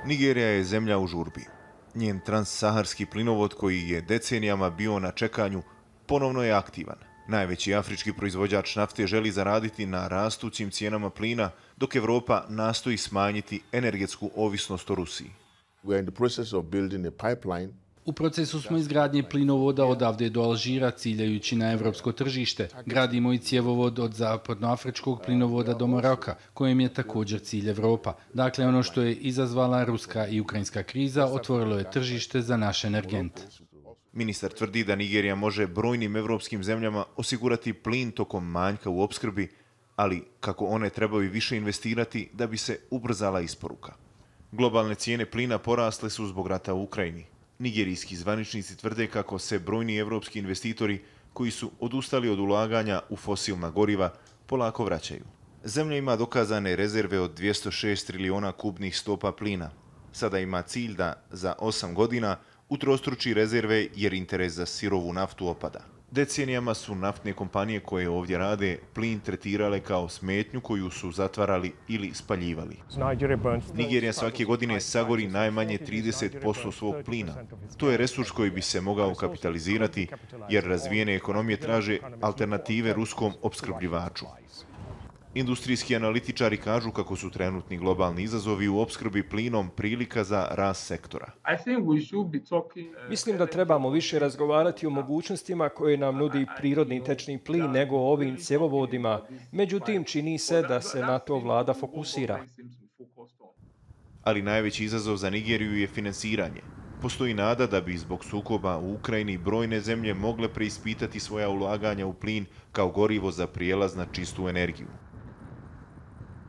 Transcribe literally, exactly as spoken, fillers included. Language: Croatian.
Nigerija je zemlja u žurbi. Njen transsaharski plinovod koji je decenijama bio na čekanju ponovno je aktivan. Najveći afrički proizvođač nafte želi zaraditi na rastućim cijenama plina, dok Evropa nastoji smanjiti energetsku ovisnost o Rusiji. U procesu smo izgradnje plinovoda odavde do Alžira ciljajući na evropsko tržište. Gradimo i cjevovod od zapadnoafričkog plinovoda do Maroka, kojem je također cilj Evropa. Dakle, ono što je izazvala ruska i ukrajinska kriza otvorilo je tržište za naš energent. Ministar tvrdi da Nigerija može brojnim evropskim zemljama osigurati plin tokom manjka u opskrbi, ali kako one trebaju više investirati da bi se ubrzala isporuka. Globalne cijene plina porasle su zbog rata u Ukrajini. Nigerijski zvaničnici tvrde kako se brojni evropski investitori koji su odustali od ulaganja u fosilna goriva polako vraćaju. Zemlja ima dokazane rezerve od dvjesto šest trilijona kubnih stopa plina. Sada ima cilj da za osam godina utrostruči rezerve jer interes za sirovu naftu opada. Decenijama su naftne kompanije koje ovdje rade plin tretirale kao smetnju koju su zatvarali ili spaljivali. Nigerija svake godine sagori najmanje trideset posto svog plina. To je resurs koji bi se mogao kapitalizirati jer razvijene ekonomije traže alternative ruskom opskrbljivaču. Industrijski analitičari kažu kako su trenutni globalni izazovi u opskrbi plinom prilika za rast sektora. Mislim da trebamo više razgovarati o mogućnostima koje nam nudi prirodni tečni plin nego o ovim cjevovodima. Međutim, čini se da se na to vlada fokusira. Ali najveći izazov za Nigeriju je finansiranje. Postoji nada da bi zbog sukoba u Ukrajini brojne zemlje mogle preispitati svoja ulaganja u plin kao gorivo za prijelaz na čistu energiju.